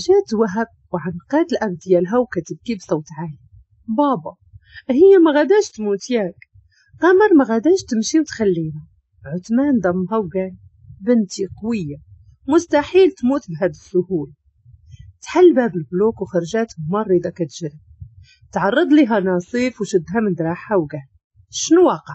جات وهب وعنقات الاب ديالها وكتبكي بصوت عالي. بابا هي ما غاداش تموت ياك؟ قمر ما غاداش تمشي وتخلينا. عثمان ضمها وقال بنتي قوية، مستحيل تموت بهذا السهولة. تحل باب ال bloc وخرجات ممرضة كتجري. تعرض لها ناصيف وشدها من دراعها وقال شنو واقع؟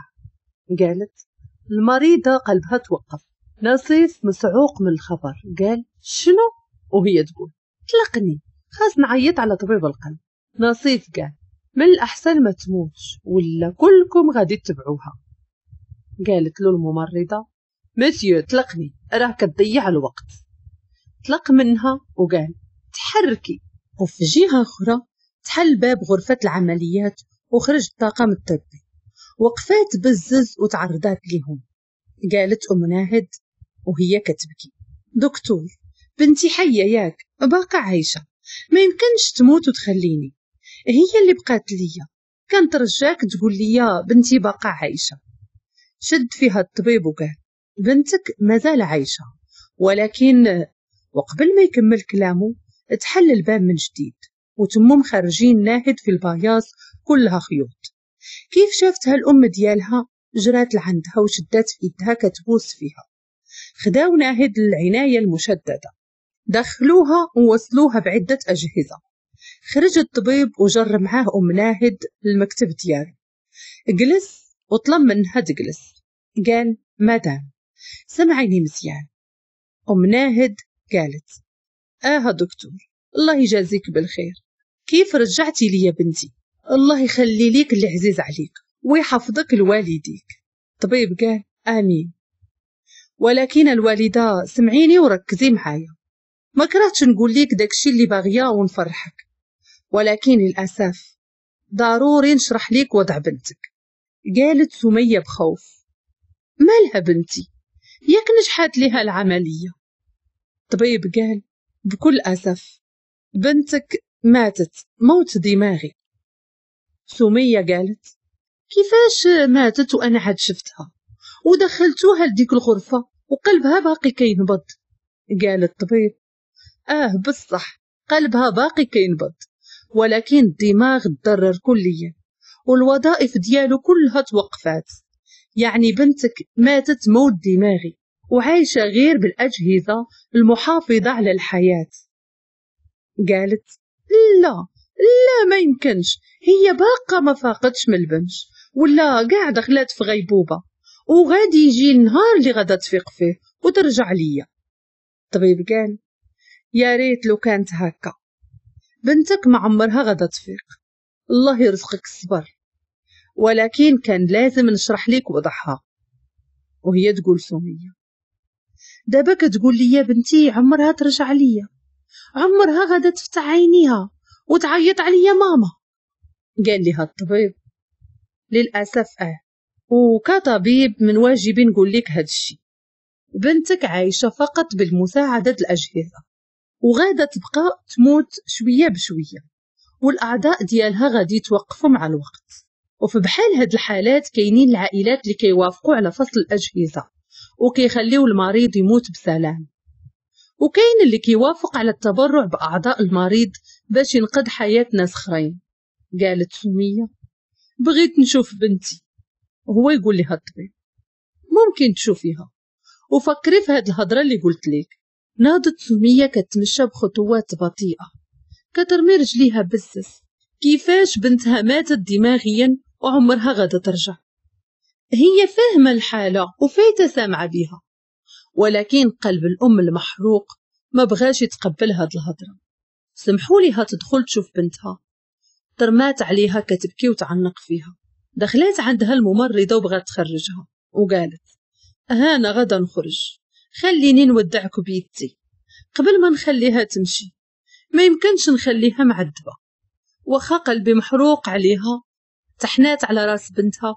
قالت المريضة قلبها توقف. ناصيف مسعوق من الخبر قال شنو؟ وهي تقول طلقني، خاص نعيط على طبيب القلب. ناصيف قال من الأحسن ما تموتش ولا كلكم غادي تتبعوها. قالت له الممرضة مسيو طلقني، راه كتضيع الوقت. طلق منها وقال تحركي. وفي جهة أخرى تحل باب غرفة العمليات وخرج الطاقم الطبي. وقفات بزز وتعرضات لهم. قالت أم ناهد وهي كتبكي دكتور بنتي حية ياك، باقا عايشة، ما يمكنش تموت وتخليني، هي اللي بقات ليا، كنترجاك تقول لي بنتي باقا عايشة. شد فيها الطبيب وقال بنتك مازال عايشة، ولكن. وقبل ما يكمل كلامه تحل الباب من جديد وتمم خارجين ناهد في البياص كلها خيوط. كيف شافتها الأم ديالها جرات لعندها وشدات في إيدها كتبوس فيها. خداو ناهد للعناية المشددة، دخلوها ووصلوها بعدة أجهزة. خرج الطبيب وجر معاه أم ناهد للمكتب ديالو. جلس وطلب منها تجلس. قال مدام سمعيني مزيان. أم ناهد قالت آه دكتور الله يجازيك بالخير، كيف رجعتي لي يا بنتي؟ الله يخلي ليك اللي عزيز عليك ويحفظك لوالديك. طبيب قال آمين، ولكن الوالدة سمعيني وركزي معايا، ما كرهتش نقول ليك داكشي اللي باغية ونفرحك، ولكن للأسف ضروري نشرح ليك وضع بنتك. قالت سمية بخوف مالها بنتي؟ ياك نجحت لها العملية؟ طبيب قال بكل أسف بنتك ماتت موت دماغي. سمية قالت كيفاش ماتت وأنا عاد شفتها ودخلتوها لديك الغرفة وقلبها باقي كينبض؟ قال الطبيب بصح قلبها باقي كينبض، ولكن الدماغ تضرر كليا والوظائف ديالو كلها توقفات، يعني بنتك ماتت موت دماغي وعايشة غير بالأجهزة المحافظة على الحياة. قالت لا لا ما يمكنش، هي باقة ما فاقتش من البنج ولا قاع دخلت في غيبوبة، وغادي يجي النهار اللي غادا تفيق فيه وترجع ليا. الطبيب قال يا ريت لو كانت هكا، بنتك ما عمرها غادا تفيق، الله يرزقك الصبر، ولكن كان لازم نشرح لك وضعها. وهي تقول سمية دابا كتقول لي يا بنتي عمرها ترجع ليا، عمرها غادا تفتح عينيها وتعيط عليا ماما. قال لها الطبيب للأسف وكطبيب من واجبي نقول لك هاد الشيء، بنتك عايشة فقط بالمساعدة الأجهزة وغادا تبقى تموت شوية بشوية، والأعضاء ديالها غادي يتوقفوا مع الوقت. وفي بحال هاد الحالات كاينين العائلات اللي كيوافقوا على فصل الأجهزة وكيخليو المريض يموت بسلام، وكاين اللي كيوافق على التبرع بأعضاء المريض باش ينقذ حياة ناس اخرين. قالت سمية بغيت نشوف بنتي. وهو يقول لها الطبيب ممكن تشوفيها وفكري في هاد الهضرة اللي قلت لك. ناضت سمية كتمشى بخطوات بطيئة كترمي رجليها بزز، كيفاش بنتها ماتت دماغيا وعمرها غادا ترجع؟ هي فاهمة الحالة وفايتة سامعة بها، ولكن قلب الأم المحروق ما بغاش يتقبل هاد الهضرة. سمحوا ليها تدخل تشوف بنتها. ترمات عليها كتبكي وتعنق فيها. دخلات عندها الممرضة وبغات تخرجها وقالت هانا غدا نخرج، خليني نودعك بيدتي قبل ما نخليها تمشي، ما يمكنش نخليها معذبة. واخا قلبي محروق عليها. تحنات على راس بنتها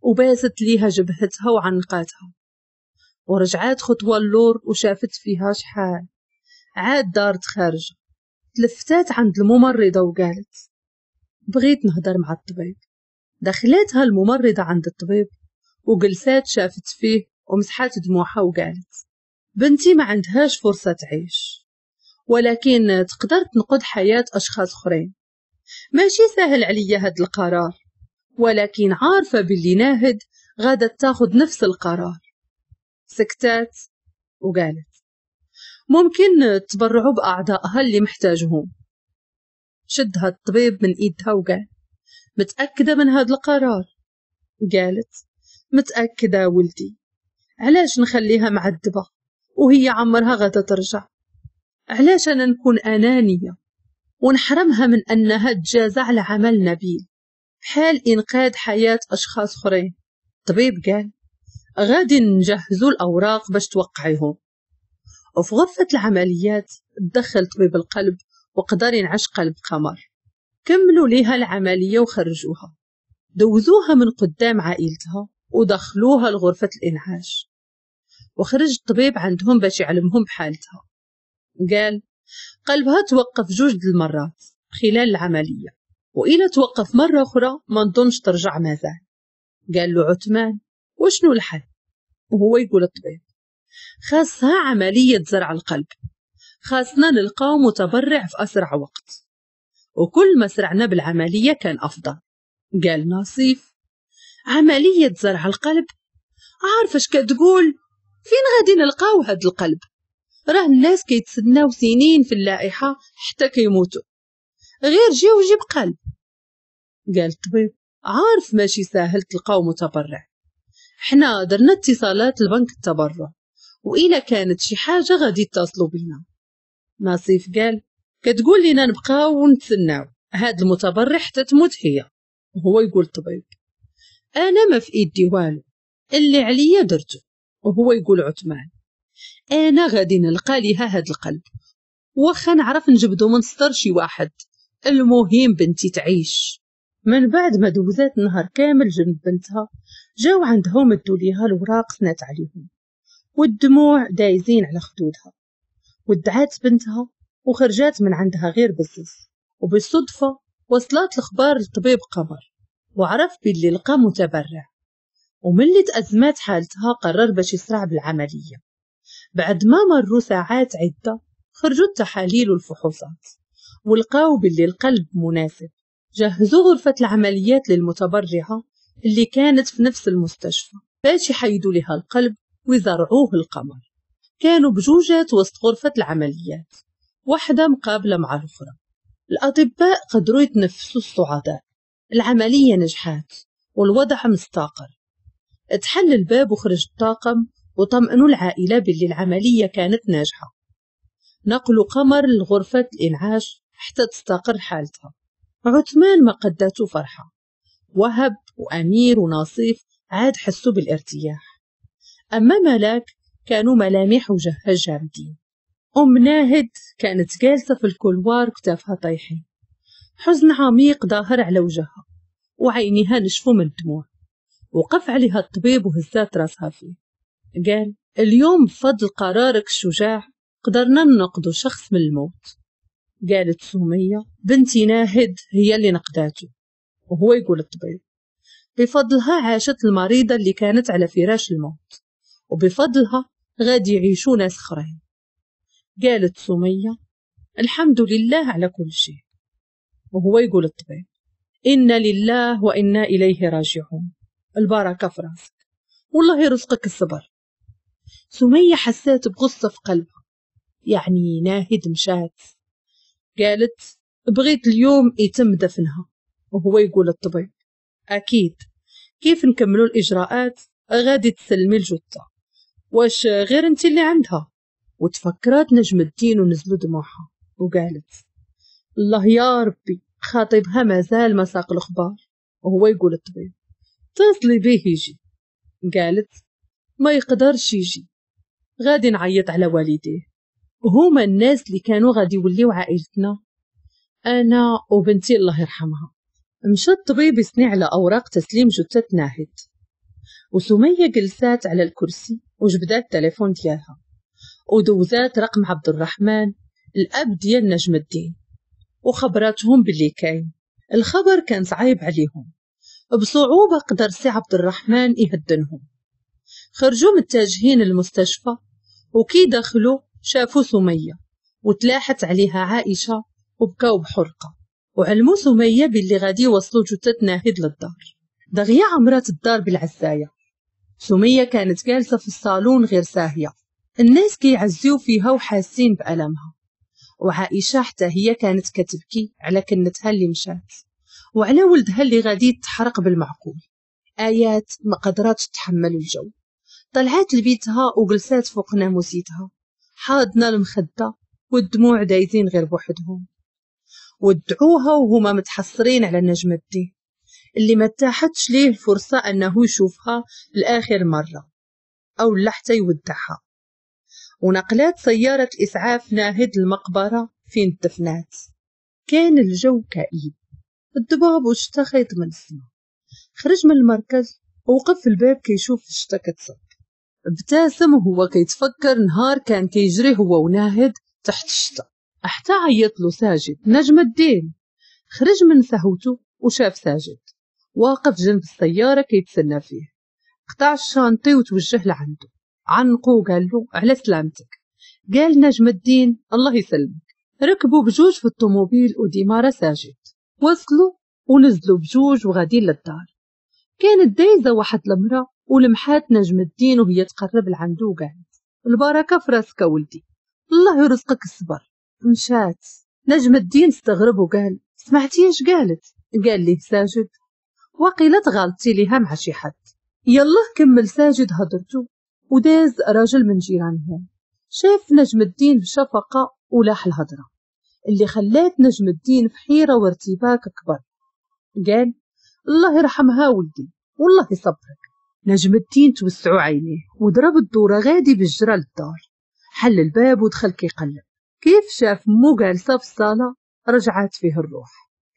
وباست ليها جبهتها وعنقاتها، ورجعات خطوة اللور وشافت فيها شحال. عاد دارت خارجة، تلفتات عند الممرضة وقالت بغيت نهضر مع الطبيب. دخلاتها الممرضة عند الطبيب وجلسات شافت فيه ومسحات دموعها وقالت بنتي ما عندهاش فرصة تعيش، ولكن تقدر تنقذ حياة أشخاص أخرين. ماشي سهل عليا هاد القرار، ولكن عارفة باللي ناهد غادا تاخد نفس القرار. سكتات وقالت ممكن تبرعوا بأعضائها اللي محتاجهم. شدها الطبيب من إيدها وقال متأكدة من هذا القرار؟ قالت متأكدة ولدي، علاش نخليها معذبة وهي عمرها غادا ترجع؟ علاش أنا نكون أنانية ونحرمها من أنها تجازى على عمل نبيل بحال إنقاذ حياة أشخاص أخرين؟ الطبيب قال غادي نجهزوا الأوراق باش توقعيهم. وفي غرفة العمليات دخل طبيب القلب وقدر ينعش قلب قمر. كملوا ليها العملية وخرجوها، دوزوها من قدام عائلتها ودخلوها لغرفة الإنعاش. وخرج الطبيب عندهم باش يعلمهم بحالتها. قال قلبها توقف 2 المرات خلال العملية، وإلى توقف مرة أخرى ما نظنش ترجع مازال. قال له عثمان وشنو الحل؟ وهو يقول الطبيب خاصها عملية زرع القلب، خاصنا نلقاو متبرع في أسرع وقت، وكل ما سرعنا بالعملية كان أفضل. قال ناصيف عملية زرع القلب؟ عارفة اش كتقول؟ فين غادي نلقاو هاد القلب؟ راه الناس كيتسناو سنين في اللائحة حتى كيموتوا، غير جي وجيب قلب. قال الطبيب عارف ماشي ساهل تلقاو متبرع، حنا درنا اتصالات لبنك التبرع، وإلا كانت شي حاجة غادي يتصلوا بينا. ناصيف قال كتقول لنا نبقاو ونتسناو هاد المتبرع حتى تموت هي. وهو يقول الطبيب أنا ما في إيدي والو، اللي عليا درته. وهو يقول عثمان أنا غادي نلقى ليها هاد القلب، واخا نعرف نجبدو من سطر شي واحد، المهم بنتي تعيش. من بعد ما دوزات النهار كامل جنب بنتها، جاو عندها ومدوا ليها الوراق سنات عليهم، والدموع دايزين على خدودها. ودعات بنتها وخرجات من عندها غير بزز. وبالصدفة وصلت الأخبار لطبيب قمر، وعرف باللي لقى متبرع. وملي تأزمات حالتها قرر باش يسرع بالعملية. بعد ما مروا ساعات عدة خرجوا التحاليل والفحوصات ولقاو باللي القلب مناسب. جهزوا غرفة العمليات للمتبرعة اللي كانت في نفس المستشفى باش يحيدوا لها القلب ويزرعوه القمر. كانوا بجوجات وسط غرفة العمليات، واحدة مقابلة مع الأخرى. الأطباء قدروا يتنفسوا الصعداء. العملية نجحات والوضع مستقر. اتحل الباب وخرج الطاقم وطمئنوا العائلة باللي العملية كانت ناجحة. نقلوا قمر لغرفة الإنعاش حتى تستقر حالتها. عثمان ما قدته فرحة. وهب وأمير وناصيف عاد حسوا بالارتياح. أما ملاك كانوا ملامح وجهها جامدين. أم ناهد كانت جالسة في ال couloir كتافها طايحين، حزن عميق ظاهر على وجهها وعينيها نشفوا من الدموع. وقف عليها الطبيب وهزات راسها فيه. قال اليوم بفضل قرارك الشجاع قدرنا ننقذ شخص من الموت. قالت سمية بنتي ناهد هي اللي نقداته. وهو يقول الطبيب بفضلها عاشت المريضة اللي كانت على فراش الموت، وبفضلها غادي يعيشوا ناس اخرين. قالت سمية الحمد لله على كل شيء. وهو يقول الطبيب إنا لله وإنا إليه راجعون، البركة في راسك والله يرزقك الصبر. سمية حسات بغصة في قلبها، يعني ناهد مشات. قالت بغيت اليوم يتم دفنها. وهو يقول الطبيب أكيد، كيف نكملوا الإجراءات غادي تسلمي الجثة، واش غير انت اللي عندها؟ وتفكرات نجم الدين ونزلوا دموعها وقالت الله يا ربي خاطبها مازال ما ساق الأخبار. وهو يقول الطبيب اتصلي به يجي. قالت ما يقدرش يجي، غادي نعيط على والديه، هما الناس اللي كانوا غادي يوليو عائلتنا، أنا وبنتي الله يرحمها. مشى الطبيب يسني على أوراق تسليم جثة ناهد، وسمية جلسات على الكرسي وجبدات التليفون ديالها ودوزات رقم عبد الرحمن الأب ديال نجم الدين وخبراتهم باللي كاين. الخبر كان صعيب عليهم، بصعوبة قدر سي عبد الرحمن يهدنهم. خرجوا متجهين المستشفى، وكي دخلوا شافوا سمية وتلاحت عليها عائشة وبكاو بحرقة، وعلموا سمية باللي غادي يوصلوا جثة ناهد للدار. دغيا عمرات الدار بالعزاية. سمية كانت جالسة في الصالون غير ساهية، الناس كيعزيو فيها وحاسين بألمها، وعائشة حتى هي كانت كتبكي على كنتها اللي مشات وعلى ولدها اللي غادي يتحرق بالمعقول. آيات ما قدراتش تحمل الجو، طلعت لبيتها وجلسات فوق ناموسيتها حاضنة المخدة والدموع دايزين غير بوحدهم. ودعوها وهما متحسرين على نجم الدين اللي ما تاحتش ليه الفرصة أنه يشوفها لآخر مرة أو لا حتى يودعها. ونقلات سيارة الإسعاف ناهد المقبرة فين دفنات. كان الجو كئيب، الضباب والشتا خيط من السما. خرج من المركز ووقف في الباب كيشوف الشتا كتصب. ابتسم وهو كيتفكر نهار كان كيجري هو وناهد تحت الشتا، حتى عيط له ساجد نجم الدين. خرج من سهوته وشاف ساجد واقف جنب السيارة كيتسنى فيه. قطع الشانطي وتوجه لعنده، عنقو وقال له على سلامتك. قال نجم الدين الله يسلمك. ركبوا بجوج في الطوموبيل وديمارة ساجد. وصلوا ونزلوا بجوج وغاديين للدار. كانت دايزة واحد المرأة ولمحات نجم الدين وهي تقرب لعنده وقالت البركة في راسك ولدي، الله يرزقك الصبر. مشات. نجم الدين استغرب وقال سمعتي اش قالت؟ قال ليه ساجد وقيلت غلطتي ليها مع شي حد. يلا كمل ساجد هضرته وداز راجل من جيرانهم. شاف نجم الدين بشفقة ولاح الهضرة اللي خلات نجم الدين في حيرة وارتباك أكبر. قال الله يرحمها ولدي والله يصبرك. نجم الدين توسعوا عينيه وضرب الدورة غادي بالجرى للدار. حل الباب ودخل كيقلب. كيف شاف مو جالسة في الصالة رجعت فيه الروح.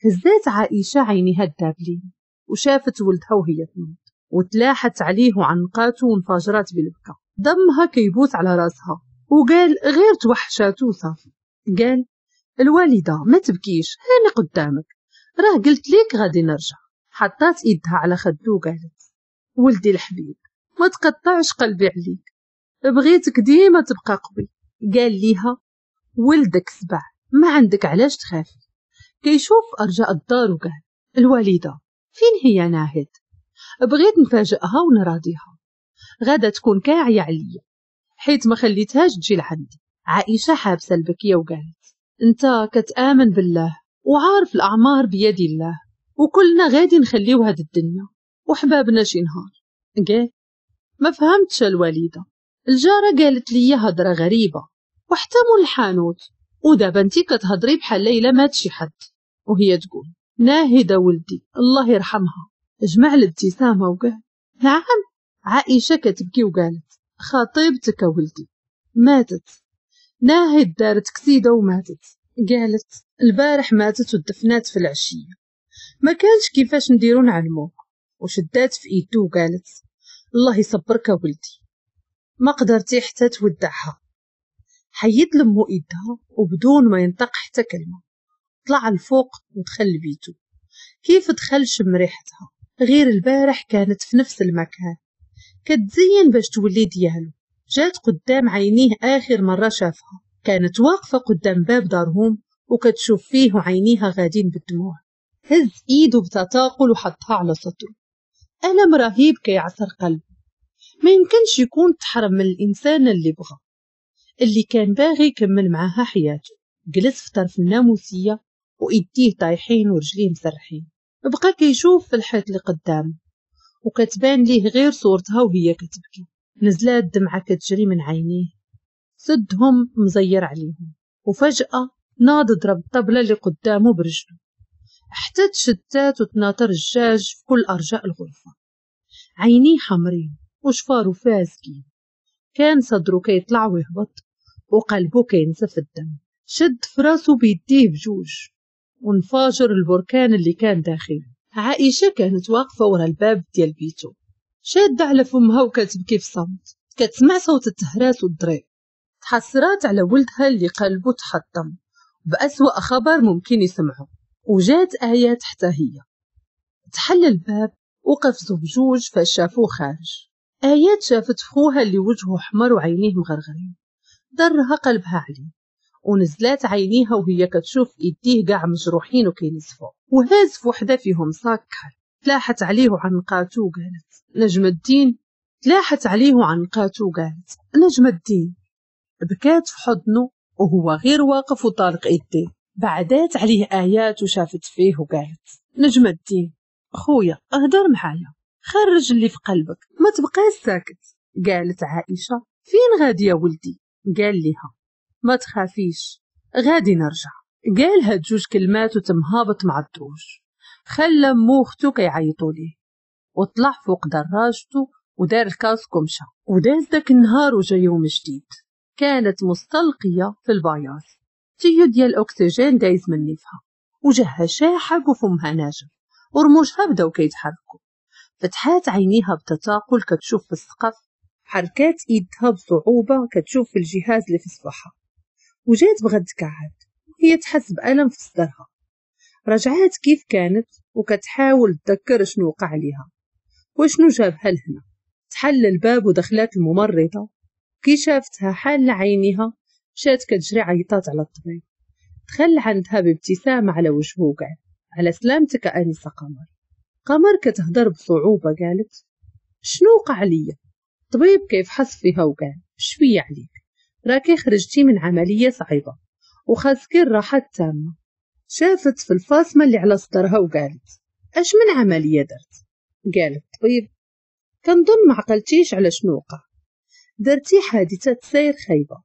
هزات عائشة عينيها الدابلين وشافت ولدها وهي تنوض وتلاحت عليه وعنقاته وانفجرت بالبكا. دمها كيبوس على راسها وقال غير توحشاتو وصافي. قال الوالدة ما تبكيش، هاني قدامك، راه قلت ليك غادي نرجع. حطات ايدها على خدو وقالت ولدي الحبيب ما تقطعش قلبي عليك، بغيتك ديما تبقى قوي. قال ليها ولدك سبع، ما عندك علاش تخافي. كيشوف ارجاء الدار وقال الوالدة فين هي ناهد؟ بغيت نفاجئها ونراضيها، غادا تكون كاعية عليا حيت ما خليتهاش تجي لعندي. عائشة حابسة البكية وقالت انت كتآمن بالله وعارف الأعمار بيد الله، وكلنا غادي نخليو هاد الدنيا وحبابنا شي نهار. قال ما فهمتش الوالدة، الجارة قالت لي هضرة غريبة وحتى مول الحانوت، ودابا انتي كتهضري بحال ليلى مات شي حد. وهي تقول ناهدة ولدي الله يرحمها. جمع الابتسامة وقال نعم. عائشة كتبكي وقالت خطيبتك ولدي ماتت، ناهد دارت كسيدة وماتت. قالت البارح ماتت ودفنات في العشية، ما كانش كيفاش نديرو نعلموك. وشدات في ايدو وقالت الله يصبرك ولدي، ما قدرتي حتى تودعها. حيد لمو ايدها وبدون ما ينطق حتى كلمة طلع الفوق ودخل لبيتو. كيف دخل شم ريحتها، غير البارح كانت في نفس المكان كتزين باش تولي ديالو. جات قدام عينيه آخر مرة شافها، كانت واقفة قدام باب دارهم وكتشوف فيه وعينيها غادين بالدموع. هز ايده بتثاقل وحطها على صدره. ألم رهيب كيعصر قلبه، ما يمكنش يكون تحرم من الإنسان اللي بغى، اللي كان باغي يكمل معاها حياته. جلس في طرف الناموسية وإيديه طايحين ورجليه مسرحين. بقى كيشوف في الحيط اللي قدامه وكتبان ليه غير صورتها وهي كتبكي. نزلات دمعة كتجري من عينيه، سدهم مزير عليهم. وفجأة ناض ضرب الطبلة اللي قدامه برجله حتى تشتات وتناطر الدجاج في كل أرجاء الغرفة. عينيه حمرين وشفارو فازكين، كان صدره كيطلع ويهبط وقلبه كينزف الدم. شد فراسه بيديه بجوج وانفجر البركان اللي كان داخله. عائشة كانت واقفة ورا الباب ديال بيتو شادة على فمها وكتبكي في صمت. كتسمع صوت التهراس والضريب. تحسرات على ولدها اللي قلبه تحطم بأسوأ خبر ممكن يسمعه. وجات آيات حتى هي. تحل الباب وقفزوا بجوج فشافوه خارج. آيات شافت خوها اللي وجهه حمر وعينيه مغرغرين، ضرها قلبها عليه ونزلات عينيها وهي كتشوف ايديه كاع مجروحين وكينزفوا، وهاز في وحده فيهم صاك كحل. تلاحت عليه وعنقاتو وقالت نجم الدين. تلاحت عليه وعنقاتو وقالت نجم الدين. بكات في حضنه وهو غير واقف وطالق ايديه. بعدات عليه آيات وشافت فيه وقالت نجم الدين خويا اهدر معايا، خرج اللي في قلبك، ما تبقاش ساكت. قالت عائشة فين غادي يا ولدي؟ قال لها ما تخافيش غادي نرجع. قال هاد جوج كلمات وتم هابط مع الدروج، خلى مو وختو كيعيطوا ليه، وطلع فوق دراجته ودار ال casque ومشى. وداز داك النهار وجا يوم جديد. كانت مستلقية في ال paillasse، tuyau ديال الأكسجين دايز من نيفها، وجهها شاحب وفمها ناجف ورموشها بداو كيتحركوا. فتحات عينيها بتثاقل كتشوف في السقف، حركات ايدها بصعوبة كتشوف في الجهاز اللي في صباحها، وجات بغات تكعد وهي تحس بألم في صدرها. رجعات كيف كانت وكتحاول تذكر شنو وقع ليها وشنو جابها لهنا. تحل الباب ودخلات الممرضة، كي شافتها حالة عينيها مشات كتجري عيطات على الطبيب. دخل عندها بابتسامة على وجهه وقال على سلامتك أنسة قمر. قمر كتهضر بصعوبة قالت شنو وقع ليا؟ الطبيب كيفحص فيها وقال شوية عليك، راكي خرجتي من عملية صعيبة وخاصك الراحة التامة. شافت في الفاصمة اللي على صدرها وقالت اش من عملية درت؟ قال الطبيب كنظن ما عقلتيش على شنو وقع، درتي حادثة سير خايبة،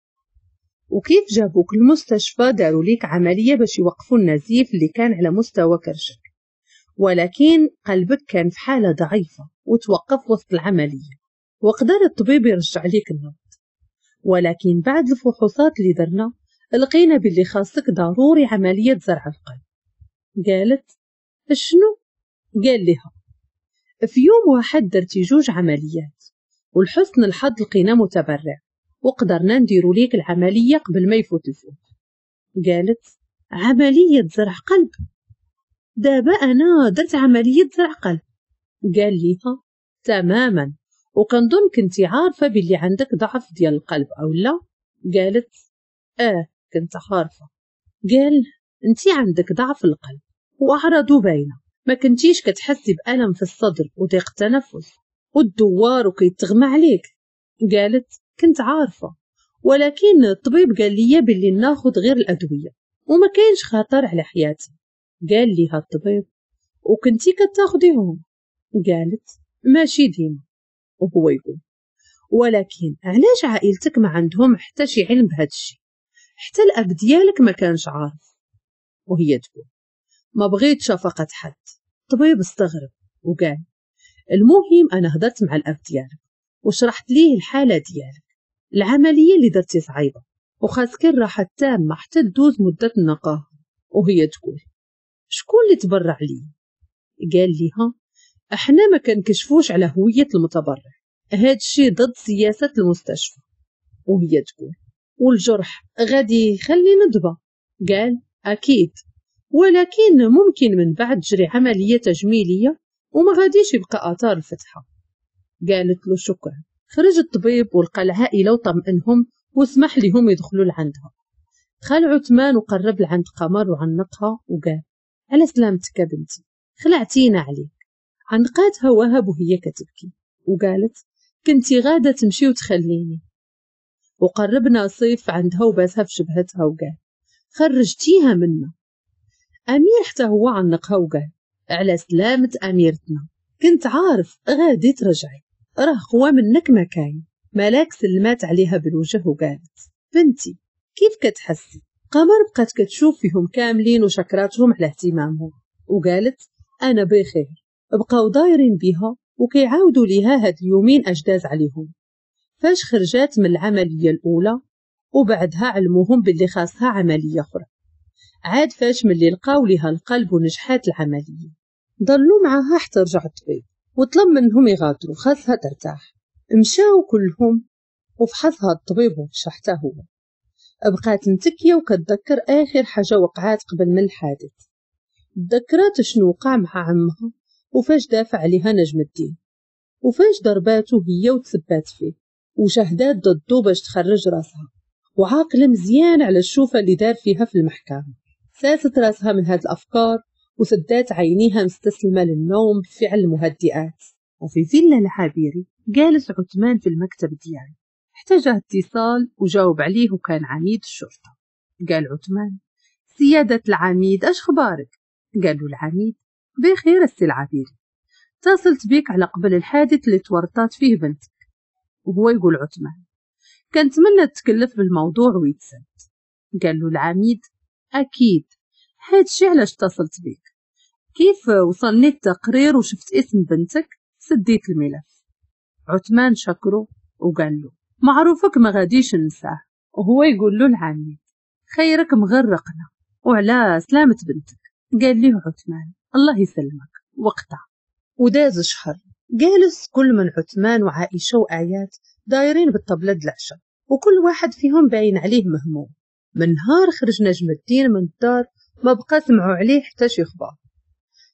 وكيف جابوك المستشفى داروا ليك عملية باش يوقفوا النزيف اللي كان على مستوى كرشك، ولكن قلبك كان في حالة ضعيفة وتوقف وسط العملية، وقدر الطبيب يرجع ليك النبض، ولكن بعد الفحوصات اللي درنا لقينا باللي خاصك ضروري عملية زرع القلب. قالت شنو؟ قال لها في يوم واحد درتي جوج عمليات، والحسن الحظ لقينا متبرع وقدرنا نديرو ليك العملية قبل ما يفوت الفوت. قالت عملية زرع قلب؟ دابا أنا درت عملية زرع قلب؟ قال ليها تماما، وكنظن كنتي عارفة باللي عندك ضعف ديال القلب أو لا؟ قالت كنت عارفة. قال انتي عندك ضعف القلب وأعراضه باينة، ما كنتيش كتحسي بألم في الصدر وضيق التنفس والدوار وكيتغمى عليك؟ قالت كنت عارفة، ولكن الطبيب قال لي باللي ناخذ غير الأدوية وما كاينش خطر على حياتي. قال ليها الطبيب وكنتي كتاخديهم؟ قالت ماشي ديما. وهو يقول ولكن علاش عائلتك ما عندهم حتى شي علم بهذا الشيء، حتى الاب ديالك ما كانش عارف؟ وهي تقول ما بغيت شفقة حد. الطبيب استغرب وقال المهم انا هضرت مع الاب ديالك وشرحت ليه الحالة ديالك، العملية اللي درتي صعيبة وخاصك الراحة التامة حتى تدوز مدة النقاهة. وهي تقول شكون اللي تبرع لي؟ قال ليها احنا ما كنكشفوش على هوية المتبرع، هاد الشيء ضد سياسة المستشفى. وهي تقول والجرح غادي يخلي ندبة؟ قال أكيد، ولكن ممكن من بعد تجري عملية تجميلية وما غاديش يبقى آثار الفتحة. قالت له شكرا. خرج الطبيب ولقى العائلة وطمئنهم وسمح لهم يدخلوا لعندها. دخل عثمان وقرب لعند قمر وعنقها وقال على سلامتك بنتي، خلعتينا عليك. عنقاتها وهب وهي كتبكي وقالت كنتي غادة تمشي وتخليني. وقربنا صيف عندها وباسها في شبهتها وقال خرجتيها منا. أمير حتى هو عنقها وقال على سلامة أميرتنا، كنت عارف غادي ترجعي، راه قوى منك ما كاين. ملاك سلمات عليها بالوجه وقالت بنتي كيف كتحسي؟ قمر بقات كتشوف فيهم كاملين وشكراتهم على اهتمامهم وقالت أنا بخير. بقاو دايرين بها وكيعاودوا ليها هاد اليومين أجداز عليهم. فاش خرجات من العملية الأولى وبعدها علموهم باللي خاصها عملية أخرى. عاد فاش ملي لقاو ليها القلب ونجحات العملية ضلوا معاها حتى رجع الطبيب وطلب منهم يغادروا، خاصها ترتاح. مشاو كلهم وفحصها الطبيب ومشى حتى هو. بقات متكية وكتذكر آخر حاجة وقعات قبل من الحادث. تذكرات شنو وقع مع عمها وفاش دافع عليها نجم الدين وفاش ضرباته هي وتسبات فيه وشهدات ضده باش تخرج راسها. وعاقلة مزيان على الشوفة اللي دار فيها في المحكمة. ساست راسها من هاد الأفكار وسدات عينيها مستسلمة للنوم بفعل المهدئات. وفي فيلا العابيري جالس عثمان في المكتب ديالو حتى جاه اتصال وجاوب عليه، وكان عميد الشرطة. قال عثمان: سيادة العميد، اش خبارك؟ قال له العميد: بخير السي العابيري، اتصلت بك على قبل الحادث اللي تورطات فيه بنتك. وهو يقول عثمان: كنتمنى تتكلف بالموضوع ويتسد. قال له العميد: أكيد، هادشي علاش اتصلت بك، كيف وصلني التقرير وشفت اسم بنتك سديت الملف. عثمان شكره وقال له: معروفك ما غاديش ننساه. وهو يقول له العميد: خيرك مغرقنا وعلى سلامة بنتك. قال له عثمان: الله يسلمك. وقطع. وداز شهر جالس كل من عثمان وعائشة وآيات دايرين بالطبلة العشاء، وكل واحد فيهم باين عليه مهموم. من نهار خرج نجم الدين من الدار ما بقى سمعوا عليه حتى شي خبار،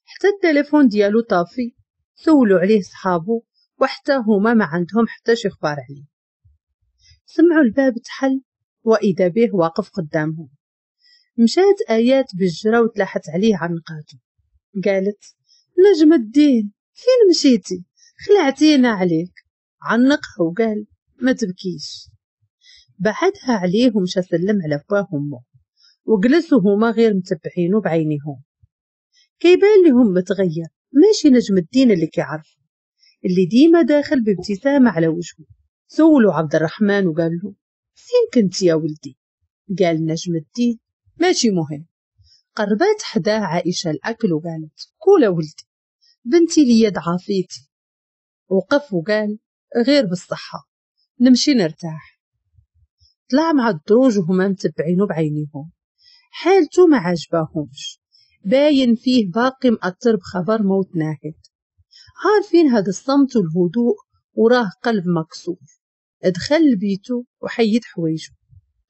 حتى التليفون ديالو طافي، سولوا عليه صحابو وحتى هما ما عندهم حتى شي خبار عليه. سمعوا الباب تحل وإذا به واقف قدامهم. مشات آيات بالجرة وتلاحت عليه عنقاته، قالت: نجم الدين فين مشيتي؟ خلعتينا عليك. عنقها وقال: ما تبكيش. بعدها عليه ومشى سلم على باه وامه، وجلسوا هما غير متبعينه بعينيهم. كيبان لهم متغير، ماشي نجم الدين اللي كيعرفه، اللي ديما داخل بابتسامة على وجهه. سولوا عبد الرحمن وقال له: فين كنت يا ولدي؟ قال نجم الدين: ماشي مهم. قربات حداه عائشة الأكل وقالت: كولا ولدي، بنتي لي ضعافيتي. وقف وقال: غير بالصحة، نمشي نرتاح. طلع مع الدروج وهما متبعينه بعينيهم. حالته ما عجباهمش، باين فيه باقي مأثر بخبر موت ناهد. عارفين هذا الصمت والهدوء وراه قلب مكسور. دخل لبيته وحيد حوايجه،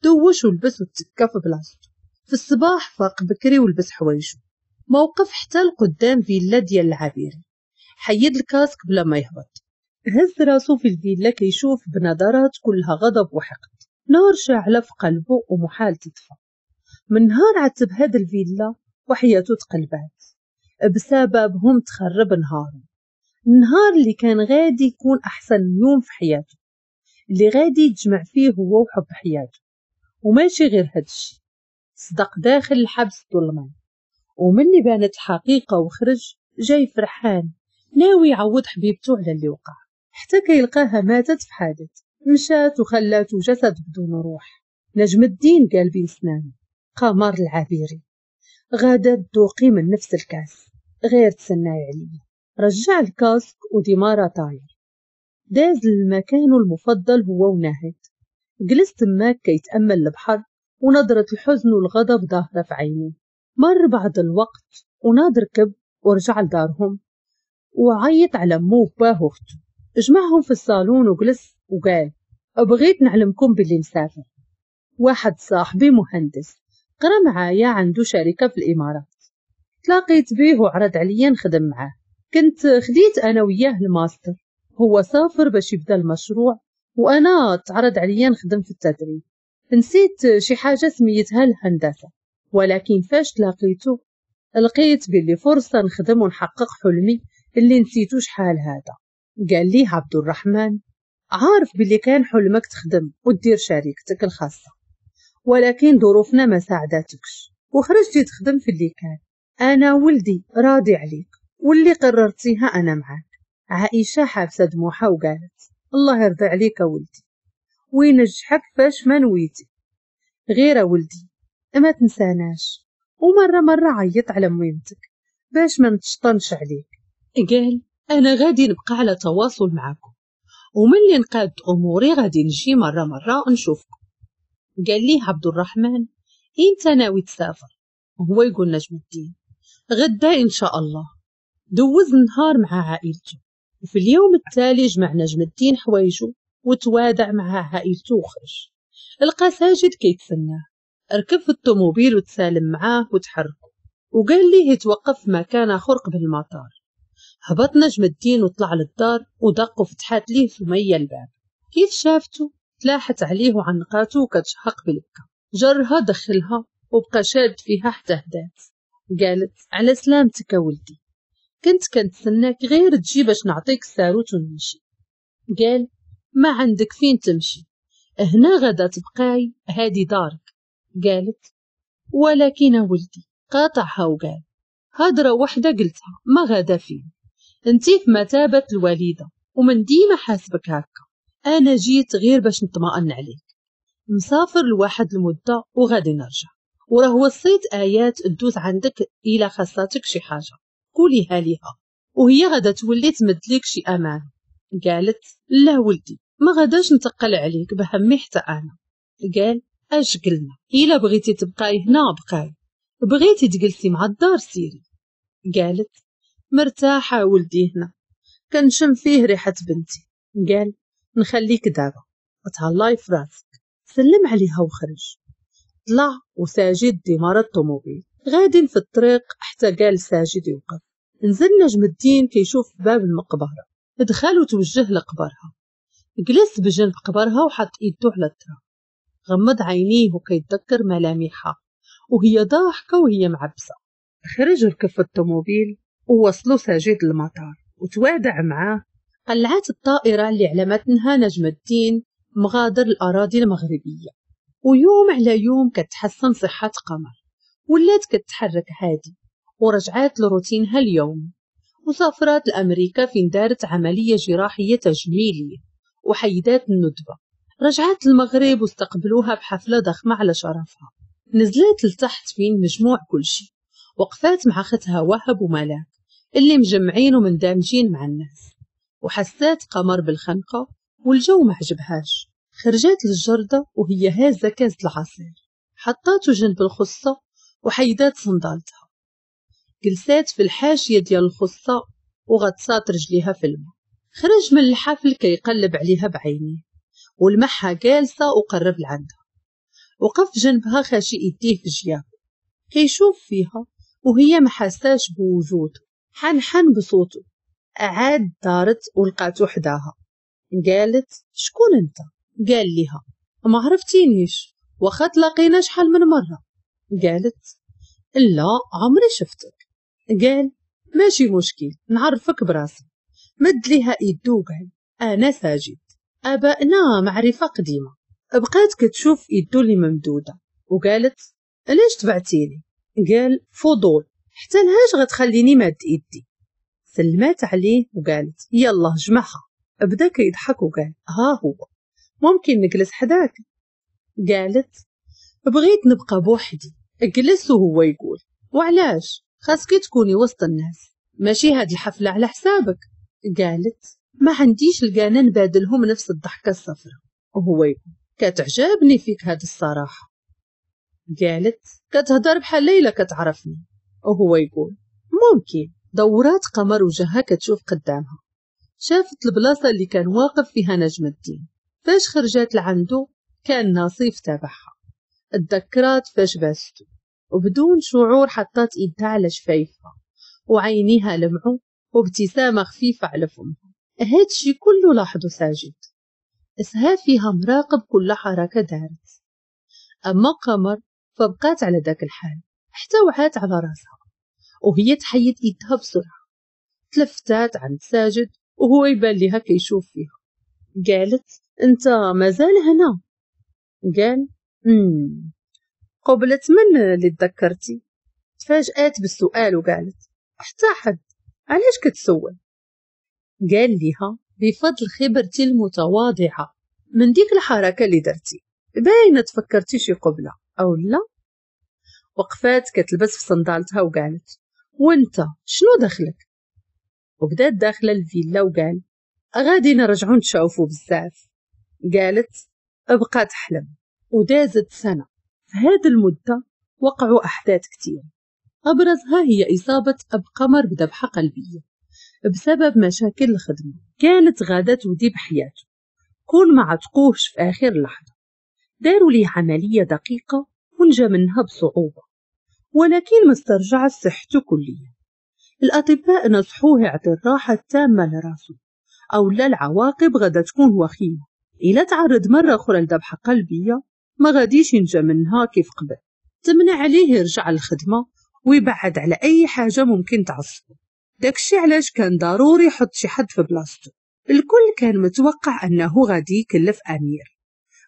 دوش ولبس وتكا في بلاصتو. في الصباح فاق بكري ولبس حوايجه، موقف حتى لقدام فيلا ديال العابيري. حيد ال casque بلا ما يهبط، هز راسو في الفيلا كيشوف بنظرات كلها غضب وحقد، نار شاعلة في قلبه ومحال تطفى. من نهار عتب هاد الفيلا وحياته تقلبات بسببهم، تخرب نهاره، النهار اللي كان غادي يكون أحسن يوم في حياته، اللي غادي يتجمع فيه هو وحب حياته. وماشي غير هادشي، صدق داخل الحبس ظلما، ومني بانت الحقيقة وخرج جاي فرحان ناوي يعوض حبيبته على اللي وقع، حتى كيلقاها ماتت في حادث، مشات وخلاتو جسد بدون روح. نجم الدين قال بين سنانه: قمر العابيري غادا تذوقي من نفس الكاس، غير تسناي عليا. رجع ال casque وديمارا طاير، داز لمكانه المفضل هو وناهد. جلس تماك كيتأمل البحر ونظرة الحزن والغضب ظاهرة في عينيه. مر بعض الوقت وناض ركب ورجع لدارهم وعيط على مو وباه واختو. جمعهم في الصالون وجلس وقال: بغيت نعلمكم باللي مسافر، واحد صاحبي مهندس قرا معايا عنده شركة في الإمارات، تلاقيت بيه وعرض عليا نخدم معاه، كنت خديت أنا وياه الماستر، هو سافر باش يبدا المشروع وأنا تعرض عليا نخدم في التدريب، نسيت شي حاجة سميتها الهندسة، ولكن فاش تلاقيته لقيت باللي فرصة نخدم ونحقق حلمي اللي نسيتو شحال هذا. قال لي عبد الرحمن: عارف باللي كان حلمك تخدم ودير شركتك الخاصة، ولكن ظروفنا ما ساعدتكش وخرجتي تخدم في اللي كان. أنا ولدي راضي عليك واللي قررتيها أنا معاك. عائشة حابسة دموعها وقالت: الله يرضي عليك ولدي وينجحك فاش ما نويتي، غير ولدي ما تنساناش، ومرة مرة عيط على ميمتك باش ما نتشطنش عليك. قال: أنا غادي نبقى على تواصل معاكم، وملي نقاد أموري غادي نجي مرة مرة نشوفكم. قال لي عبد الرحمن: إنت ناوي تسافر؟ وهو يقول نجم الدين: غدا إن شاء الله. دوز النهار مع عائلته، وفي اليوم التالي جمع نجم الدين حوايجه وتوادع مع عائلته وخرج. لقى ساجد كيتسناه، ركب في الطوموبيل وتسالم معاه وتحركوا، وقال ليه يتوقف في مكان آخر قبل المطار. هبط نجم الدين وطلع للدار ودق وفتحات ليه سمية الباب. كيف شافته تلاحت عليه وعنقاته وكتشهق بالبكا. جرها دخلها وبقى شاد فيها حتى هدات. قالت على سلامتك ولدي، كنت كنتسناك غير تجي باش نعطيك الساروت ونمشي. قال ما عندك فين تمشي، هنا غدا تبقاي، هادي دارك. قالت ولكن ولدي. قاطعها وقال هضرة وحدة قلتها ما غدا فين، انتي في مثابة الوالدة ومن ديما حاسبك هكا، انا جيت غير باش نطمئن عليك، مسافر لواحد المدة وغادي نرجع، وراه وصيت آيات تدوز عندك إلا خاصاتك شي حاجة قوليها ليها وهي غادا تولي تمد ليك شي أمان. قالت لا ولدي ما غاداش نتقل عليك بهمي حتى أنا. قال اش قلنا، إلا بغيتي تبقاي هنا بقاي، بغيتي تجلسي مع الدار سيري. قالت مرتاحة ولدي هنا، كنشم فيه ريحة بنتي. قال نخليك دابا، تهلاي في راسك. سلم عليها وخرج. طلع وساجد ديمار الطوموبيل. غادين في الطريق حتى قال ساجد يوقف. نزل نجم الدين كيشوف باب المقبرة، دخل وتوجه لقبرها. جلس بجنب قبرها وحط ايده على التراب، غمض عينيه وكيتذكر ملامحها وهي ضاحكة وهي معبسة. خرج ركب في الطوموبيل ووصلوا ساجد للمطار وتوادع معاه. قلعت الطائرة اللي على متنها نجم الدين مغادر الأراضي المغربية. ويوم على يوم كتحسن صحة قمر، ولات كتحرك عادي ورجعات لروتينها اليوم. وسافرات لأمريكا فين دارت عملية جراحية تجميلية وحيدات الندبة. رجعت المغرب واستقبلوها بحفلة ضخمة على شرفها. نزلت لتحت فين مجموع كل شيء، وقفات مع اختها وهب وملاك اللي مجمعين ومندمجين مع الناس. وحسات قمر بالخنقة والجو ما عجبهاش. خرجت للجردة وهي هازة كاس العصير، حطاته جنب الخصة وحيدات صندالتها. جلسات في الحاشية ديال الخصة وغطسات رجليها في الماء. خرج من الحفل كيقلب عليها بعينيه ولمحها جالسة وقرب لعندها. وقف جنبها خاشي ايديه في جيابه كيشوف فيها وهي ما حساش بوجوده. حنحن بصوته. عاد دارت ولقاتو حداها. قالت شكون انت؟ قال لها ما عرفتينيش واخا تلاقينا شحال من مرة. قالت لا عمري شفتك. قال ماشي مشكل نعرفك براسي. مد ليها ايدو وقال انا ساجد، ابائنا معرفة قديمة. بقات كتشوف ايدو اللي ممدودة وقالت علاش تبعتيني؟ قال فضول، حتى لهاش غتخليني ماد ايدي؟ سلمات عليه وقالت يلا جمعها. بدا كيضحك وقال ها هو ممكن نجلس حداك؟ قالت بغيت نبقى بوحدي. جلس وهو يقول وعلاش؟ خاصك تكوني وسط الناس، ماشي هاد الحفلة على حسابك. قالت ما عنديش القانة نبادلهم نفس الضحكة الصفراء. وهو يقول كتعجبني فيك هاد الصراحة. قالت كتهضر بحال ليلى كتعرفني. وهو يقول ممكن. دورات قمر وجهها كتشوف قدامها، شافت البلاصة اللي كان واقف فيها نجم الدين. فاش خرجت لعنده كان ناصيف تابعها. اتذكرات فاش باستو وبدون شعور حطات ايدها على شفايفها وعينيها لمعوا وابتسامة خفيفة على فمها. هادشي كله لاحظه ساجد، اسها فيها مراقب كل حركة دارت. أما قمر فبقات على ذاك الحال حتى وعات على راسها وهي تحيد ايدها بسرعة. تلفتات عند ساجد وهو يبان لها كيشوف فيها. قالت انت مازال هنا؟ قال قبلت من اللي تذكرتي؟ تفاجآت بالسؤال وقالت حتى حد، علاش كتسول؟ قال لها بفضل خبرتي المتواضعة من ديك الحركة اللي درتي باينة تفكرتي شي قبلة أو لا؟ وقفات كتلبس في صندالتها وقالت وانت شنو دخلك؟ وبدات داخلة الفيلا وقال غادي نرجعو نتشوفو بزاف. قالت ابقى تحلم. ودازت سنة. في هذه المدة وقعوا أحداث كتير، أبرزها هي إصابة أب قمر بذبحة قلبية بسبب مشاكل الخدمة. كانت غادة تودي بحياته كون ما عتقوهش في آخر لحظة. داروا ليه عملية دقيقة ونجا منها بصعوبة، ولكن ما استرجعش صحته كليا. الأطباء نصحوه يعطي الراحة التامة لراسه أو لا العواقب غدا تكون وخيمة. إلا تعرض مرة أخرى لذبحة قلبية ما غاديش ينجى منها كيف قبل. تمنع عليه يرجع للخدمة ويبعد على أي حاجة ممكن تعصبه. داكشي علاش كان ضروري يحط شي حد في بلاصتو. الكل كان متوقع أنه غادي يكلف أمير،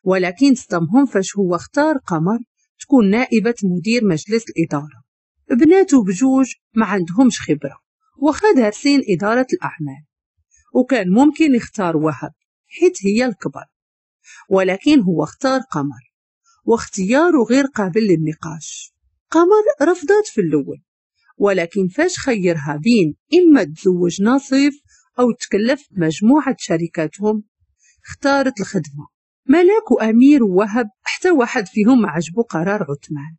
ولكن صدمهم فاش هو اختار قمر تكون نائبة مدير مجلس الإدارة. بناته بجوج ما عندهمش خبرة واخا دارسين إدارة الأعمال، وكان ممكن يختار وهب حيت هي الكبر، ولكن هو اختار قمر واختياره غير قابل للنقاش. قمر رفضت في الأول، ولكن فاش خيرها بين إما تزوج ناصيف أو تكلف مجموعة شركاتهم اختارت الخدمة. ملاك وأمير ووهب حتى واحد فيهم ما عجبو قرار عثمان،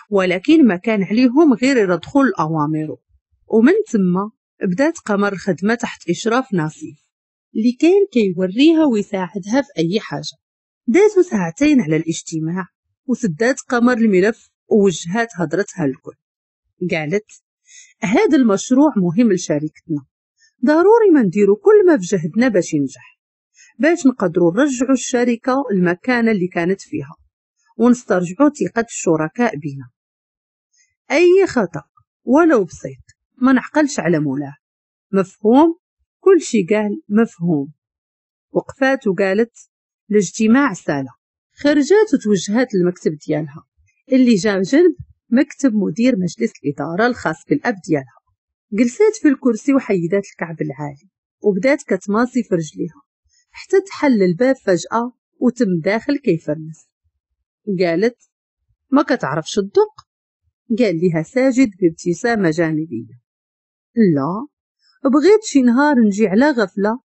ولكن ما كان عليهم غير يرضخوا لأوامره. ومن ثم بدات قمر الخدمة تحت إشراف ناصيف اللي كان كيوريها ويساعدها في أي حاجة. دازوا ساعتين على الاجتماع وسدات قمر الملف ووجهات هضرتها للكل. قالت هذا المشروع مهم لشركتنا، ضروري ما نديرو كل ما في جهدنا باش ينجح، باش نقدروا نرجعوا الشركة المكانة اللي كانت فيها ونسترجعوا ثقة الشركاء بنا. أي خطأ ولو بسيط ما نعقلش على مولاه. مفهوم؟ كل شي قال مفهوم. وقفات وقالت الاجتماع سالة. خرجات وتوجهات للمكتب ديالها اللي جا جنب مكتب مدير مجلس الإدارة الخاص بالأب ديالها. جلسات في الكرسي وحيدات الكعب العالي وبدات كتماصي في رجليها حتى تحل الباب فجأة وتم داخل كيفرنس. قالت ما كتعرفش الدق؟ قال لها ساجد بابتسامة جانبية لا، بغيت شي نهار نجي على غفلة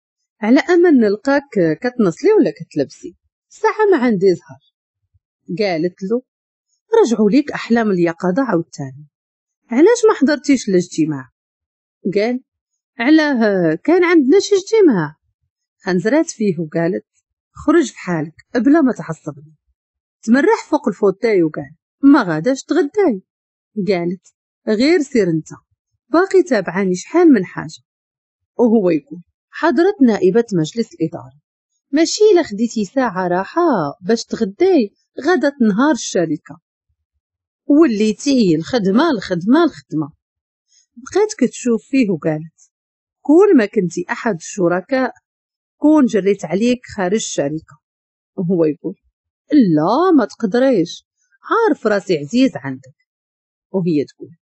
على أمل نلقاك كتنصلي ولا كتلبسي، ساعة ما عندي زهر. قالت له رجعوا ليك أحلام اليقظة عاوتاني، علاش ما حضرتيش الاجتماع؟ قال علاه كان عندنا شي اجتماع؟ خنزرات فيه وقالت خرج في حالك بلا ما تعصبني. تمرح فوق ال fauteuil وقال ما غاداش تغداي؟ قالت غير سير انت، باقي تابعاني شحال من حاجة. وهو يقول حضرت نائبة مجلس الإدارة ماشي إلا خديتي ساعة راحة باش تغداي غدا تنهار الشركة، وليتي الخدمة الخدمة الخدمة. بقيت كتشوف فيه وقالت كون ما كنتي أحد الشركاء كون جريت عليك خارج الشركة. وهو يقول لا ما تقدريش، عارف راسي عزيز عندك. وهي تقول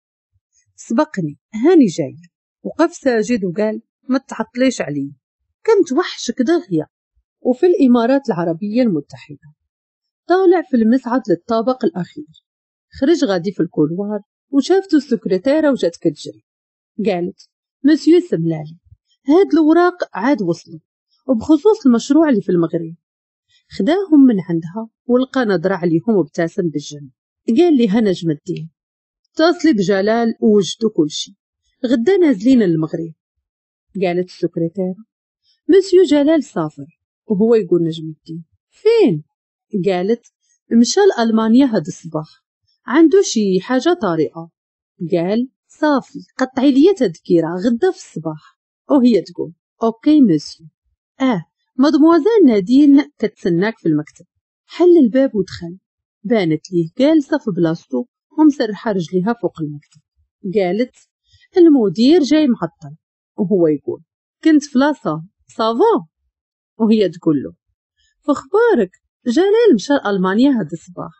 سبقني هاني جاي. وقف ساجد وقال ما تعطليش علي، كنت وحشك دغيا. وفي الإمارات العربية المتحدة طالع في المصعد للطابق الأخير، خرج غادي في ال couloir وشافته السكرتيرة وجات كتجري. قالت مسيو سملالي هاد الوراق عاد وصلوا وبخصوص المشروع اللي في المغرب. خداهم من عندها ولقى نظرة عليهم وابتسم بالجنب. قال لها نجم الدين اتصلي بجلال ووجدوا كل شيء، غدا نازلين للمغرب. قالت السكرتيرة مسيو جلال سافر. وهو يقول نجم الدين فين؟ قالت مشى لألمانيا هاد الصباح، عنده شي حاجة طارئة. قال صافي قطعي لي تذكرة غدا في الصباح. وهي تقول OK monsieur. مادموزيل نادين كتسناك في المكتب. حل الباب ودخل، بانت ليه جالسة في بلاصتو ومسرحة رجليها فوق المكتب. قالت المدير جاي معطل. وهو يقول كنت في la salle ça va. وهي تقول له فخبارك جلال مشى لألمانيا هاد الصباح.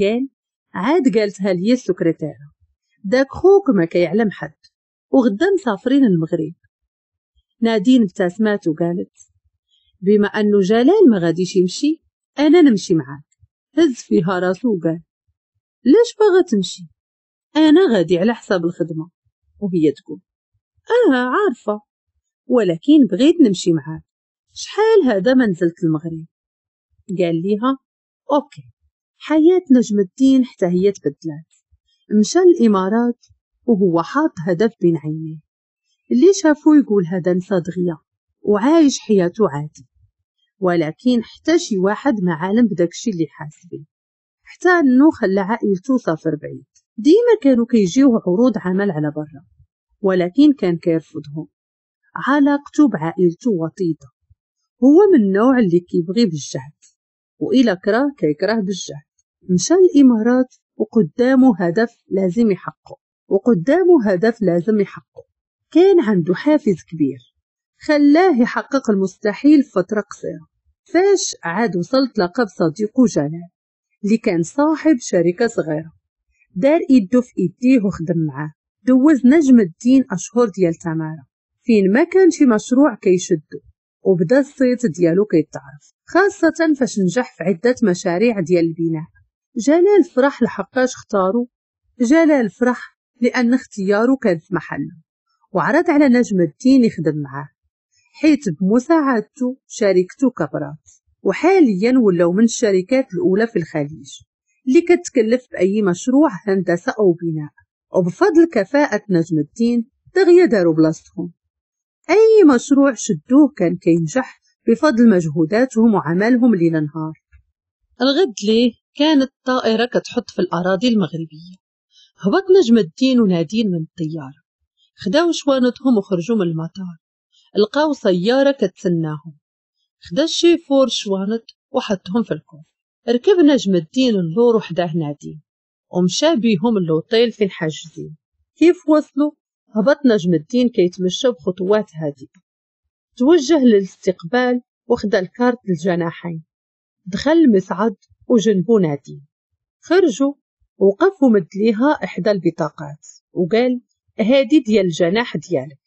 قال عاد قالتها لي السكرتيرة داك خوك ما كيعلم حد وغدا مسافرين المغرب. نادين ابتسمات وقالت بما أنه جلال ما غاديش يمشي أنا نمشي معاك. هز فيها راسو وقال ليش باغا تمشي؟ أنا غادي على حساب الخدمة. وهي تقول عارفة ولكن بغيت نمشي معاك، شحال هذا ما نزلت المغرب. قال ليها OK. حياة نجم الدين حتى هي تبدلات، مشى الإمارات وهو حاط هدف بين عينيه، اللي شافو يقول هذا نسى دغيا وعايش حياته عادي، ولكن حتى شي واحد ما عالم بداكشي اللي حاس بيه، حتى انه خلى عائلته سافر بعيد. ديما كانوا كيجيوه عروض عمل على برا ولكن كان كيرفضهم. علاقته بعائلته وطيدة هو من النوع اللي كيبغي بالجهد، وإلى كره كيكره بالجهد. مشى الإمارات وقدامه هدف لازم يحققه، كان عنده حافز كبير خلاه يحقق المستحيل في فترة قصيرة. فاش عاد وصل تلاقى بصديقه جلال اللي كان صاحب شركة صغيرة، دار ايدو في ايديه وخدم معاه. دوز نجم الدين أشهر ديال تمارة فين ما كان شي مشروع كيشدو، وبدا الصيت ديالو كيتعرف، خاصة فاش نجح في عدة مشاريع ديال البناء. جلال فرح لحقاش اختارو، جلال فرح لأن اختياره كان في محله، وعرض على نجم الدين يخدم معاه، حيت بمساعدته شركته كبرات، وحاليا ولاو من الشركات الأولى في الخليج اللي كتكلف بأي مشروع هندسة أو بناء. وبفضل كفاءة نجم الدين دغيا داروا بلاصتهم، أي مشروع شدوه كان كينجح بفضل مجهوداتهم وعملهم ليل نهار. الغد ليه كانت الطائرة كتحط في الأراضي المغربية. هبط نجم الدين ونادين من الطيارة، خداو شوانتهم وخرجوا من المطار. لقاو سيارة كتسناهم، خدا الشيفور شوانت وحطهم في ال coffre. ركب نجم الدين اللور وحداه نادين ومشى بيهم اللوطيل فين حاجزين. كيف وصلوا هبط نجم الدين كيتمشى بخطوات هادئة، توجه للاستقبال وخدا الكارت للجناحين. دخل المصعد وجنبو نادين. خرجوا وقف ومد ليها إحدى البطاقات وقال هادي ديال الجناح ديالك.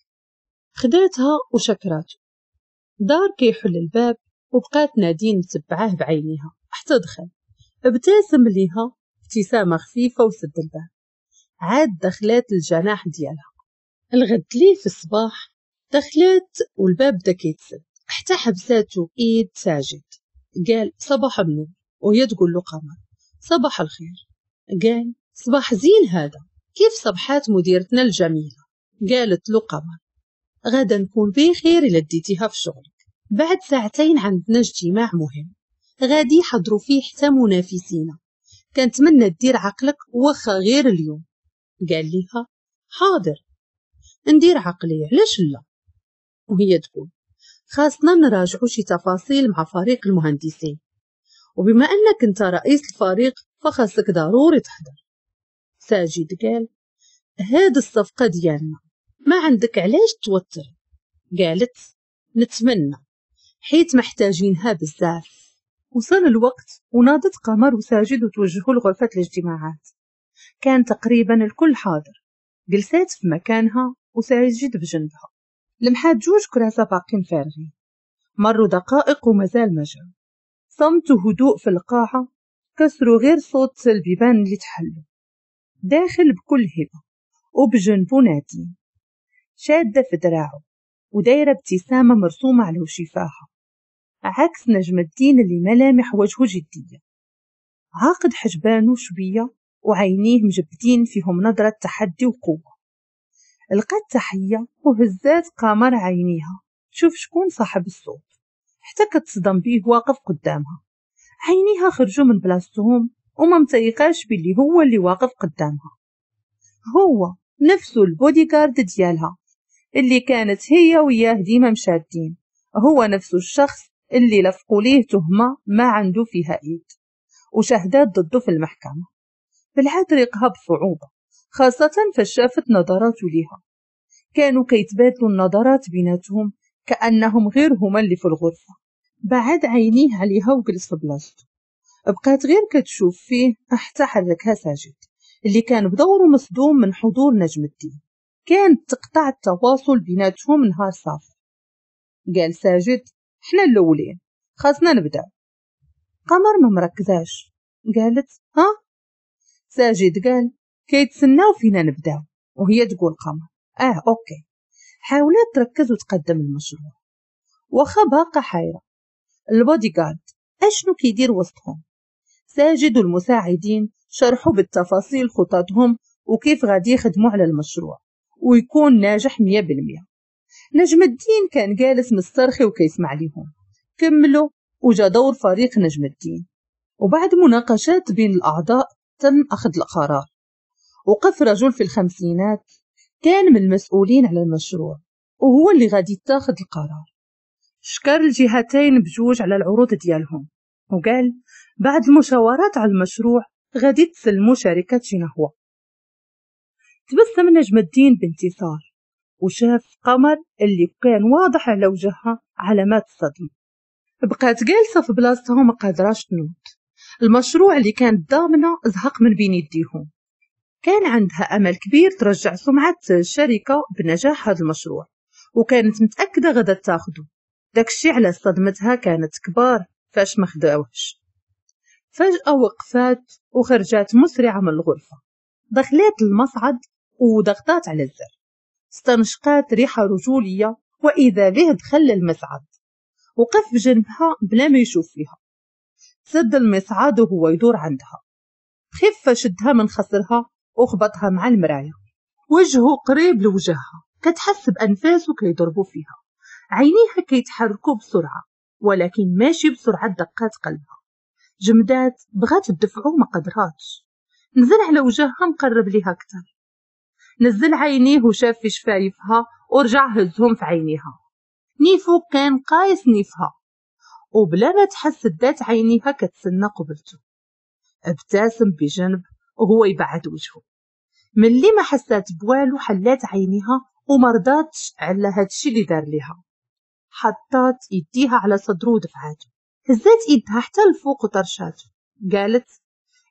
خداتها وشكراته. دار كيحل الباب وبقات نادين متبعاه بعينيها حتى دخل. ابتسم ليها ابتسامة خفيفة وسد الباب. عاد دخلات الجناح ديالها. الغد ليه في الصباح دخلات والباب بدا كيتسد حتى حبساتو ايد ساجد. قال صباح النور، وهي تقول له قمر صباح الخير. قال صباح زين هذا، كيف صبحات مديرتنا الجميلة؟ قالت له قمر غدا نكون بخير إلا ديتيها في شغلك. بعد ساعتين عندنا اجتماع مهم غادي يحضروا فيه حتى منافسينا، كنتمنى دير عقلك واخا غير اليوم. قال ليها حاضر ندير عقلي علاش لا. وهي تقول خاصنا نراجعوا شي تفاصيل مع فريق المهندسين، وبما انك انت رئيس الفريق فخاصك ضروري تحضر. ساجد قال هاد الصفقة ديالنا ما عندك علاش توتر. قالت نتمنى حيت محتاجينها بزاف. وصل الوقت وناضت قمر وساجد وتوجهوا لغرفة الاجتماعات. كان تقريبا الكل حاضر. جلسات في مكانها وساجد بجنبها. لمحات جوج كراسة باقين فارغين. مروا دقائق ومازال ما جاو. صمت وهدوء في القاعة كسروا غير صوت البيبان اللي تحلوا. داخل بكل هبة وبجنبو نادين شادة في دراعه ودايرة ابتسامة مرسومة على شفاها، عكس نجم الدين اللي ملامح وجهه جدية. عاقد حجبانه شوية وعينيه مجبدين فيهم نظرة تحدي وقوة. لقات تحية وهزات قمر عينيها تشوف شكون صاحب الصوت، حتى كتصدم بيه واقف قدامها. عينيها خرجوا من بلاصتهم وما متيقاش باللي هو اللي واقف قدامها. هو نفسه البودي جارد ديالها اللي كانت هي وياه ديما مشادين، هو نفسه الشخص اللي لفقوا ليه تهمة ما عنده فيها ايد وشهدات ضده في المحكمة. بلعت ريقها بصعوبة، خاصة فشافت نظراته ليها. كانوا كيتبادلوا النظرات بيناتهم كأنهم غير هما اللي في الغرفة. بعد عينيه عليها وجلس في بلاصته. بقات غير كتشوف فيه حتى حركها ساجد اللي كان بدوره مصدوم من حضور نجم الدين. كانت تقطع التواصل بيناتهم نهار صافي. قال ساجد حنا الاولين خاصنا نبدا. قمر ما مركزاش، قالت ها؟ ساجد قال كيتسناو فينا نبداو، وهي تقول قمر okay. حاولت تركز وتقدم المشروع واخا باقا حيرة. البودي جارد اشنو كيدير وسطهم؟ ساجد والمساعدين شرحوا بالتفاصيل خططهم وكيف غادي يخدموا على المشروع ويكون ناجح 100%. نجم الدين كان جالس مسترخي وكيسمع ليهم. كملوا وجا دور فريق نجم الدين، وبعد مناقشات بين الأعضاء تم أخذ القرار. وقف رجل في الخمسينات كان من المسؤولين على المشروع وهو اللي غادي يتاخذ القرار. شكر الجهتين بجوج على العروض ديالهم وقال بعد المشاورات على المشروع غادي تسلموا شركة شينهوا. تبسم نجم الدين بانتصار وشاف قمر اللي كان واضح على وجهها علامات الصدمة. بقات جالسة في بلاصتها وما قادراش تنوض. المشروع اللي كانت ضامنة زهق من بين يديهم. كان عندها أمل كبير ترجع سمعة الشركة بنجاح هذا المشروع، وكانت متأكدة غدا تاخده. داكشي على صدمتها كانت كبار فاش ما خداوهش. فجأة وقفات وخرجات مسرعة من الغرفة، دخلت المصعد وضغطات على الزر، استنشقات ريحة رجولية وإذا به دخل المصعد. وقف بجنبها بلا ما يشوف فيها. سد المصعد وهو يدور عندها. خفة شدها من خصرها وخبطها مع المراية. وجهه قريب لوجهها، كتحس بأنفاسه كيضربوا فيها، عينيها كيتحركوا بسرعة ولكن ماشي بسرعة دقات قلبها. جمدات بغات تدفعو ما قدراتش. نزل على وجهها مقرب ليها أكثر، نزل عينيه وشاف في شفايفها ورجع هزهم في عينيها. نيفو كان قايس نيفها وبلا ما تحس دات عينيها كتسنى قبلته. ابتسم بجنب وهو يبعد وجهه. ملي ما حسات بوالو حلات عينيها ومرضاتش على هادشي اللي دار ليها. حطات يديها على صدره ودفعاته، هزات يدها حتى الفوق وطرشاته. قالت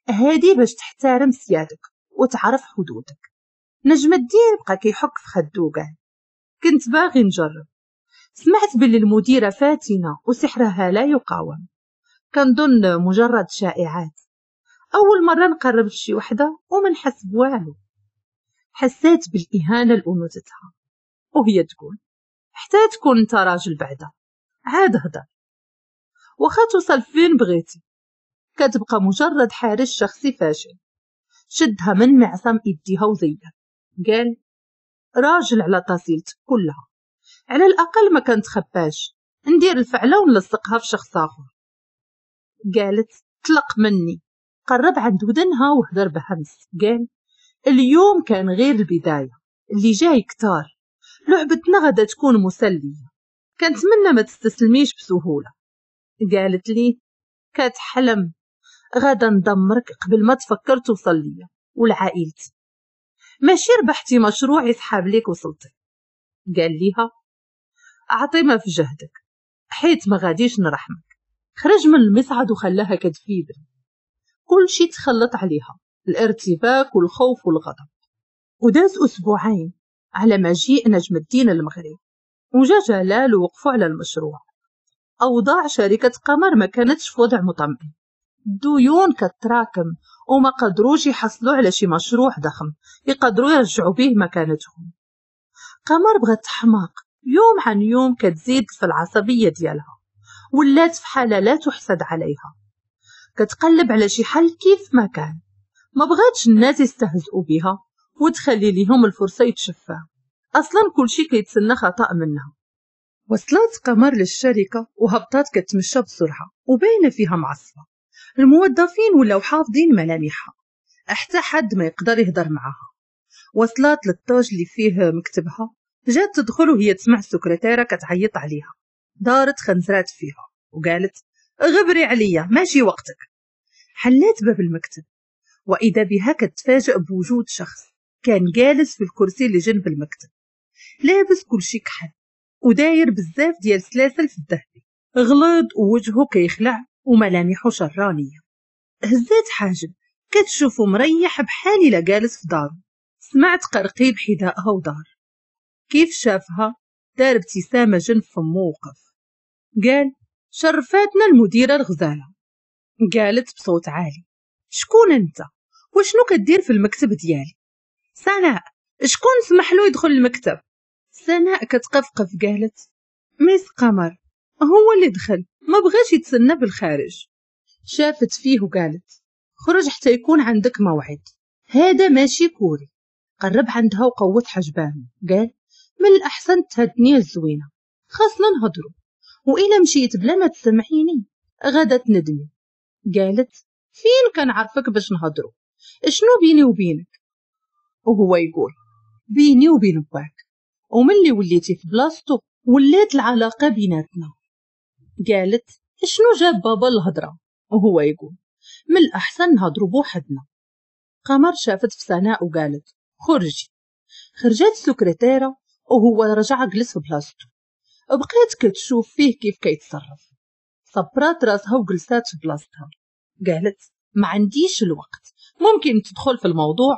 هادي باش تحترم سيادك وتعرف حدودك. نجم الدين بقى كيحك في خدو وقال كنت باغي نجرب، سمعت باللي المديرة فاتنة وسحرها لا يقاوم، كنظن مجرد شائعات، أول مرة نقرب لشي وحدة وما نحس بوالو. حسيت بالإهانة لأنوثتها وهي تقول حتى تكون انت راجل بعدا عاد هدر، واخا توصل فين بغيتي كتبقى مجرد حارس شخصي فاشل. شدها من معصم يديها وزيها قال راجل على طاسيلتك كلها، على الأقل ما كنتخباش، ندير الفعلة ونلصقها في شخص آخر. قالت طلق مني. قرب عند ودنها وهدر بهمس قال اليوم كان غير البداية، اللي جاي كتار، لعبتنا غدا تكون مسلية، كنتمنى ما تستسلميش بسهولة. قالت لي كتحلم، غدا ندمرك قبل ما تفكر توصل ليا ولعائلتي، ماشي ربحتي مشروع يسحب ليك وصلتي. قال ليها اعطي ما في جهدك حيت ما غاديش نرحمك. خرج من المصعد وخلاها كتفيبر، كل شي تخلط عليها، الارتباك والخوف والغضب. وداز أسبوعين على مجيء نجم الدين المغرب، وجا جلال ووقفوا على المشروع. أوضاع شركة قمر ما كانتش في وضع مطمئن، الديون كتراكم وما قدروش يحصلوا على شي مشروع ضخم يقدروا يرجعوا به مكانتهم. قمر بغات تحماق، يوم عن يوم كتزيد في العصبية ديالها، ولات في حالة لا تحسد عليها، كتقلب على شي حل كيف ما كان. ما بغاتش الناس يستهزئوا بها وتخلي ليهم الفرصة يتشفاو، أصلا كل شي كيتسنى خطأ منها. وصلت قمر للشركة وهبطات كتمشى بسرعة وباينة فيها معصبة. الموظفين ولاو حافظين ملامحها، حتى حد ما يقدر يهضر معاها. وصلت للطاج اللي فيه مكتبها، جات تدخل وهي تسمع السكرتيرة كتعيط عليها. دارت خنزرات فيها وقالت غبري عليا ماشي وقتك. حلات باب المكتب وإذا بها كتفاجأ بوجود شخص كان جالس في الكرسي اللي جنب المكتب، لابس كل شي كحل وداير بزاف ديال السلاسل في الذهبي، غليظ ووجهه كيخلع وملامحه شرانية. هزات حاجب كتشوفه مريح بحال إلا جالس في داره. سمعت قرقيب حذائها ودار. كيف شافها دار ابتسامة جنب فمو وقف، قال شرفاتنا المديرة الغزالة. قالت بصوت عالي شكون انت وشنو كدير في المكتب ديالي؟ سناء شكون سمح له يدخل المكتب؟ سناء كتقفقف قالت ميس قمر هو اللي دخل، ما بغاش يتسنى بالخارج. شافت فيه وقالت خرج حتى يكون عندك موعد، هذا ماشي كوري. قرب عندها وقوت حجبانه قال من الأحسن تهدني الزوينة، خاصنا نهضروا، وإلا مشيت بلا ما تسمعيني غدا تندمي. قالت فين كنعرفك باش نهضروا، شنو بيني وبينك؟ وهو يقول بيني وبين باك، وملي وليتي في بلاصتو ولات العلاقة بيناتنا. قالت شنو جاب بابا الهضرة؟ وهو يقول من الأحسن نهضروا بوحدنا. قمر شافت في سناء وقالت خرجي. خرجت السكرتيرة وهو رجع جلس في بلاصتو. بقيت كتشوف فيه كيف كيتصرف. صبرات راسها وجلسات في بلاصتها. قالت ما عنديش الوقت، ممكن تدخل في الموضوع؟